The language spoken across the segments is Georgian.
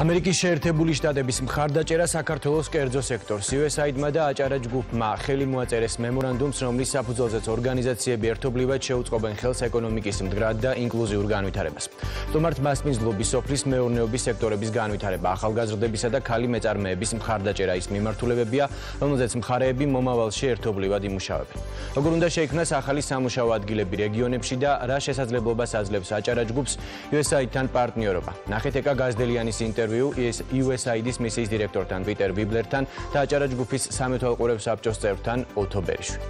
ამერიკის შეერთებული შტატების მხარდაჭერა საქართველოს კერძო სექტორს USAID-მა და აჭარა ჯგუფმა ხელი მოაწერეს მემორანდუმს, რომლის საფუძველზეც ორგანიზაციები ერთობლივად შეუწყობენ ხელს ეკონომიკის მდგრად და ინკლუზიურ განვითარებას. სტუმართ მასპინძლობის სოფლის მეურნეობის სექტორების განვითარება, ახალგაზრდებისა და ქალი მეწარმეების მხარდაჭერა ის მიმართულებებია, რომელზეც მხარეები მომავალში ერთობლივად იმუშავებენ. როგორ უნდა შეიქმნას ახალი სამუშაო ადგილები რეგიონებში და რა შესაძლებლობას აძლევს აჭარა ჯგუფს USAID-თან პარტნიორობა. ნახეთ ეკა გაზდელიანის ინტერვიუ USAID-ის მისიის დირექტორთან პიტერ ვიბლერთან და აჭარა ჯგუფის სამეთვალყურეო საბჭოს წევრთან ოთო ბერიშვილი.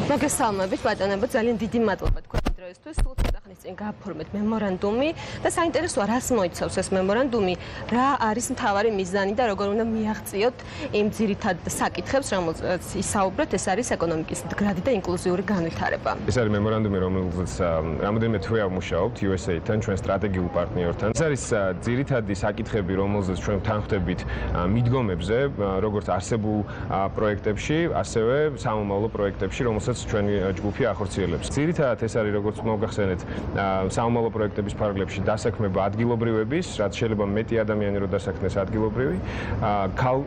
მოგესალმებით ბატონებო, ძალიან დიდი მადლობა თქვენი დროისთვის. სულ ცოტა ხნის წინ გააფორმეთ მემორანდუმი და საინტერესოა, რას მოიცავს ეს მემორანდუმი, რა არის მთავარი მიზანი და როგორ უნდა მიაღწიოთ იმ ძირითად საკითხებს, რომელზეც ისაუბრეთ, ეს არის ეკონომიკის მდგრადი და ინკლუზიური განვითარება. ეს არის მემორანდუმი, რომელზეც რამოდენიმე თვე ვმუშაობთ USAID-თან, ჩვენ სტრატეგიულ პარტნიორთან. ეს არის ძირითადი საკითხები, რომელზეც ჩვენ თანხმდებით მიდგომებზე, როგორც არსებულ პროექტებში, ასევე სამომავლო პროექტებში, რომელსაც ჩვენი ჯგუფი ახორციელებს. ძირითადად ეს არის, როგორც მოგახსენეთ, სამომავლო პროექტების ფარგლებში დასაქმება ადგილობრივების, რაც შეიძლება მეტი ადამიანი რო დასაქმდეს ადგილობრივი,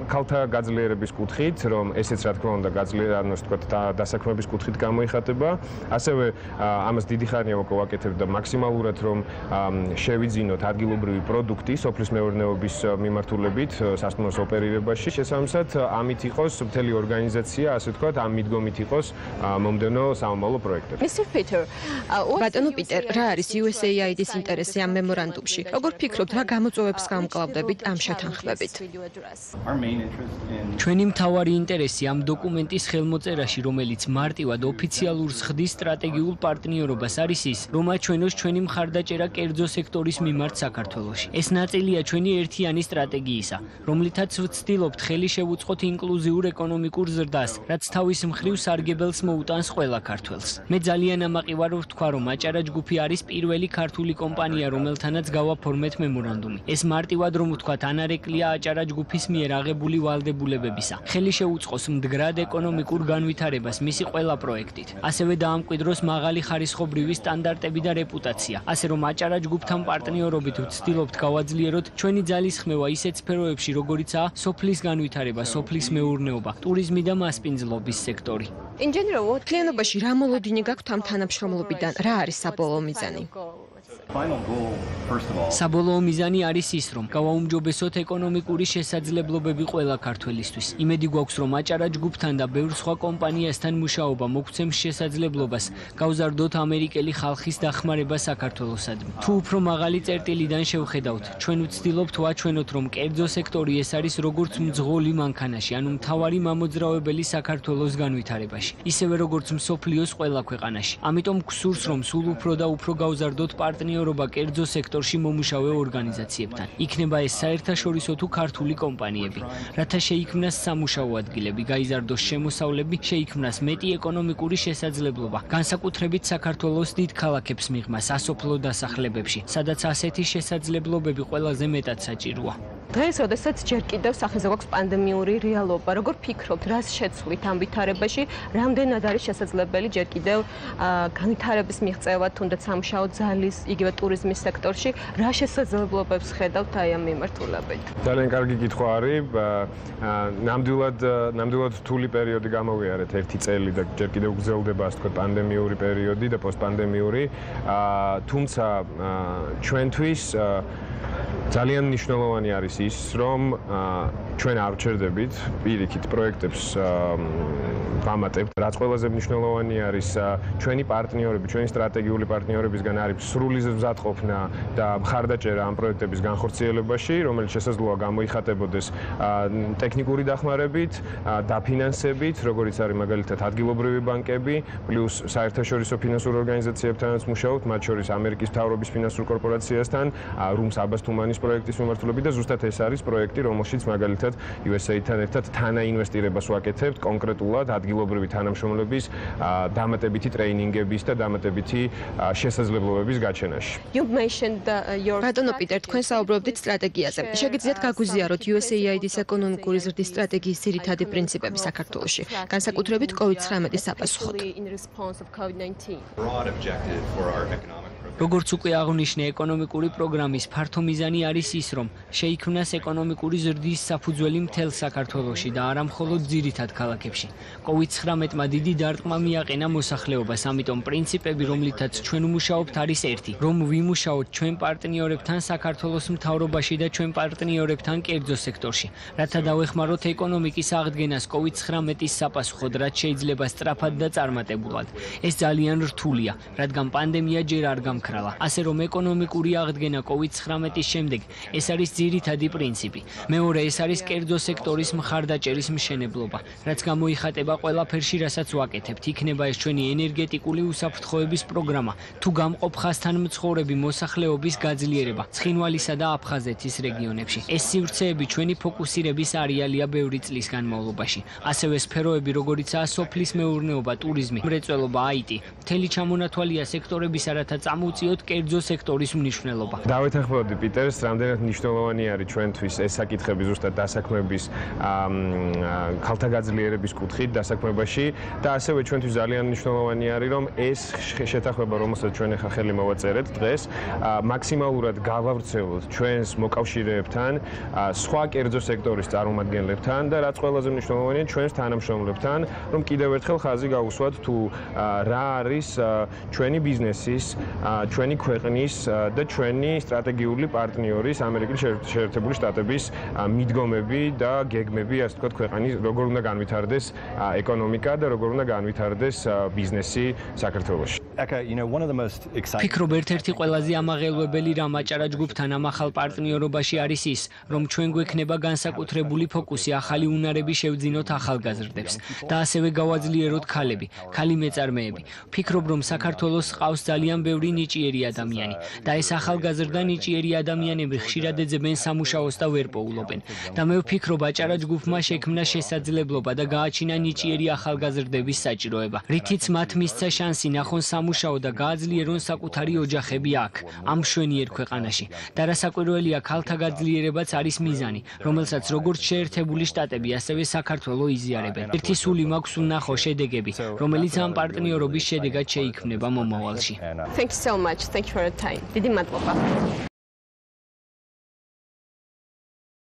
ქალთა გაძლიერების კუთხით, რომ ესეც რა თქმა უნდა დასაქმების კუთხით გამოიხატება. ასევე ამას დიდი ხანია ვაკეთებ და მაქსიმალურად რომ შევიძინოთ ადგილობრივი პროდუქტი სოფლის მეურნეობის მიმართულებით სასტუმროს ოპერირებაში. შესაბამისად, ამით იყოს მთელი ორგანიზაცია, ასე ვთქვათ, ამ მიდგომით იყოს მომდენო სამომავლო პროექტები. ბატონო პიტერ, რა არის USAID-ის ინტერესი ამ მემორანდუმში? როგორ ფიქრობთ, რა გამოწვევებს გამკლავდებით ამ შეთანხმებით? ჩვენი მთავარი ინტერესი ამ დოკუმენტის ხელმოწერაში, რომელიც მარტივად ოფიციალურს ხდის სტრატეგიულ პარტნიორობას, არის ის, რომ აჩვენოს ჩვენი მხარდაჭერა კერძო სექტორის მიმართ საქართველოში. ეს ნაწილია ჩვენი ერთიანი სტრატეგიისა, რომლითაც ვცდილობთ ხელი შევუწყოთ ინკლუზიურ ეკონომიკურ ზრდას, რაც თავის მხრივ სარგებელს მოუტანს ყველა ქართველს. მე ძალიან ამაყი ვარ ვთქვა, რომ აჭარა ჯგუფი არის პირველი ქართული კომპანია, რომელთანაც გავაფორმეთ მემორანდუმი. ეს მარტივად რომ ვთქვათ, ანარეკლია აჭარა ჯგუფის მიერ აღებული ვალდებულებებისა. ხელი შეუწყოს მდგრად ეკონომიკურ განვითარებას მისი ყველა პროექტით. ასევე დაამკვიდროს მაღალი ხარისხობრივი სტანდარტები და რეპუტაცია. ასე რომ აჭარა ჯგუფთან პარტნიორობით ვცდილობთ გავაძლიეროთ ჩვენი ძალისხმევა ისეთ სფეროებში, როგორიცაა სოფლის განვითარება, სოფლის მეურნეობა, ტურიზმი და მასპინძლობის სექტორი. მთლიანობაში რა მოლოდინი გაქვთ ამ თანამშრომლობიდან? რა არის საბოლოო მიზანი? საბოლოო მიზანი არის ის, რომ გავაუმჯობესოთ ეკონომიკური შესაძლებლობები ყველა ქართველისთვის. იმედი გვაქვს, რომ აჭარა ჯგუფთან და ბევრ სხვა კომპანიასთან მუშაობა მოგცემს შესაძლებლობას გავზარდოთ ამერიკელი ხალხის დახმარება საქართველოსადმი. თუ უფრო მაღალი წერტილიდან შევხედავთ, ჩვენ ვცდილობთ ვაჩვენოთ, რომ კერძო სექტორი ეს არის როგორც მძღოლი მანქანაში, ანუ მთავარი მამოძრავებელი საქართველოს განვითარებაში, ისევე როგორც მსოფლიოს ყველა ქვეყანაში. ამიტომ გვსურს, რომ სულ უფრო და უფრო გავზარდოთ პარტნიორობა კერძო სექტორში მომუშავე ორგანიზაციებთან. იქნება ეს საერთაშორისო თუ ქართული კომპანიები, რათა შეიქმნას სამუშაო ადგილები, გაიზარდოს შემოსავლები, შეიქმნას მეტი ეკონომიკური შესაძლებლობა, განსაკუთრებით საქართველოს დიდ ქალაქებს მიღმა სასოფლო დასახლებებში, სადაც ასეთი შესაძლებლობები ყველაზე მეტად საჭიროა. დღეს, როდესაც ჯერ კიდევ სახეზე გვაქვს პანდემიური რეალობა, როგორ ფიქრობთ, რას შეცვლით ამ ვითარებაში, რამდენად არის შესაძლებელი ჯერ კიდევ განვითარების მიღწევა, თუნდაც სამუშაო ძალის, იგივე ტურიზმის სექტორში, რა შესაძლებლობებს ხედავთ აი ამ მიმართულებით? ძალიან კარგი კითხვა არის. ნამდვილად რთული პერიოდი გამოვიარეთ, 1 წელი და ჯერ კიდევ გრძელდება, ასე ვთქვათ, პანდემიური პერიოდი და პოსტპანდემიური. თუმცა ჩვენთვის ძალიან მნიშვნელოვანი არის ის, რომ ჩვენ არ ვჩერდებით პირიქით პროექტებს ვამატებთ. რაც ყველაზე მნიშვნელოვანი არის, ჩვენი პარტნიორები, ჩვენი სტრატეგიული პარტნიორებისგან არის სრული მზადყოფნა და მხარდაჭერა ამ პროექტების განხორციელებაში, რომელიც შესაძლოა გამოიხატებოდეს ტექნიკური დახმარებით, დაფინანსებით, როგორც არის მაგალითად ადგილობრივი ბანკები, პლუს საერთაშორისო ფინანსურ ორგანიზაციებთანაც მუშაობთ, მათ შორის ამერიკის მთავრობის ფინანსურ კორპორაციასთან, რუმს აბას თუმანის პროექტის მიმართულებით და ზუსტად ეს არის პროექტი, რომელშიც მაგალითად USAID-თან ერთად თანაინვესტირებას ვაკეთებთ კონკრეტულად ადგილობრივი თანამშრომლების დამატებითი ტრეინინგების და დამატებითი შესაძლებლობების გაჩენაში. ბატონო პიტერ, თქვენ საუბრობდით სტრატეგიაზე. შეგიძლიათ გაგვიზიაროთ USAID-ის ეკონომიკური ზრდის სტრატეგიის ძირითადი პრინციპები საქართველოში, განსაკუთრებით COVID-19 საპასუხოდ. როგორც უკვე აღნიშნე, ეკონომიკური პროგრამის ფართო მიზანი არის ის, რომ შეიქმნას ეკონომიკური ზრდის საფუძველი მთელ საქართველოში და არა მხოლოდ ძირითად ქალაქებში. COVID-19-მა დიდი დარტყმა მიაყენა მოსახლეობას, ამიტომ პრინციპები, რომლითაც ჩვენ ვმუშაობთ, არის ერთი, რომ ვიმუშაოთ ჩვენ პარტნიორებთან საქართველოს მთავრობაში და ჩვენ პარტნიორებთან კერძო სექტორში, რათა დავეხმაროთ ეკონომიკის აღდგენას COVID-19-ის საპასუხოდ, რაც შეიძლება სწრაფად და წარმატებულად. ეს ძალიან რთულია, რადგან პანდემია ჯერ არ გამქრალა. ასე რომ ეკონომიკური აღდგენა COVID-19-ის შემდეგ ეს არის ძირითადი პრინციპი. მეორე, ეს არის კერძო სექტორის მხარდაჭერის მშენებლობა, რაც გამოიხატება ყველაფერში, რასაც ვაკეთებთ. იქნება ეს ჩვენი ენერგეტიკული უსაფრთხოების პროგრამა, თუ გამყოფ ხაზთან მცხოვრები მოსახლეობის გაძლიერება ცხინვალისა და აფხაზეთის რეგიონებში. ეს სივრცეები ჩვენი ფოკუსირების არეალია ბევრი წლის განმავლობაში. ასევე სფეროები, როგორიცაა სოფლის მეურნეობა, ტურიზმი, მრეწველობა, IT, მთელი ჩამონათვალია სექტორებისა, რათა წამოუწიოთ კერძო სექტორის მნიშვნელობა. დავეთანხმებოდი პიტერს, რამდენად მნიშვნელოვანი არის ჩვენთვის ეს საკითხები ზუსტად დასაქმების ქალთა გაძლიერების კუთხით დასაქმებაში და ასევე ჩვენთვის ძალიან მნიშვნელოვანი არის, რომ ეს შეთანხმება, რომელსაც ჩვენ ახლა ხელი მოვაწერეთ დღეს, მაქსიმალურად გავავრცელოთ ჩვენს მოკავშირეებთან, სხვა კერძო სექტორის წარმომადგენლებთან და რაც ყველაზე მნიშვნელოვანია, ჩვენს თანამშრომლებთან, რომ კიდევ ერთხელ ხაზი გაუსვათ თუ რა არის ჩვენი ბიზნესის, ჩვენი ქვეყნის და ჩვენი სტრატეგიული პარტნიორის ამერიკის შეერთებული შტატების მიდგომები და გეგმები, ასე ვთქვათ, ქვეყნის როგორ უნდა განვითარდეს ეკონომიკა და როგორ უნდა განვითარდეს ბიზნესი საქართველოში. ფიქრობ, ერთ-ერთი ყველაზე ამაღელვებელი რამ აჭარა ჯგუფთან ამ ახალ პარტნიორობაში არის ის, რომ ჩვენ გვექნება განსაკუთრებული ფოკუსი ახალი უნარების შევძინოთ ახალგაზრდებს და ასევე გავაძლიეროთ ქალები, ქალი მეწარმეები. ფიქრობ, რომ საქართველოს ყავს ძალიან ბევრი ნიჭიერი ადამიანი და ეს ახალგაზრდა ნიჭიერი ადამიანები ხშირად ეძებენ სამუშაოს და ვერ პოულობენ. და მე ვფიქრობ, აჭარა ჯგუფმა შექმნა შესაძლებლობა და გააჩინა ნიჭიერი ახალგაზრდების საჭიროება, რითიც მათ მისცა შანსი ნახონ სამუშაო და გააძლიერონ საკუთარი ოჯახები აქ, ამ მშვენიერ ქვეყანაში. და რასაკვირველია, ქალთა გაძლიერებაც არის მიზანი, რომელსაც როგორც შეერთებული შტატები, ასევე საქართველო იზიარებენ. ერთი სული მაქვს ვნახო შედეგები, რომელიც ამ პარტნიორობის შედეგად შეიქმნება მომავალში. Thank you so much. Thank you for your time. დიდი მადლობა.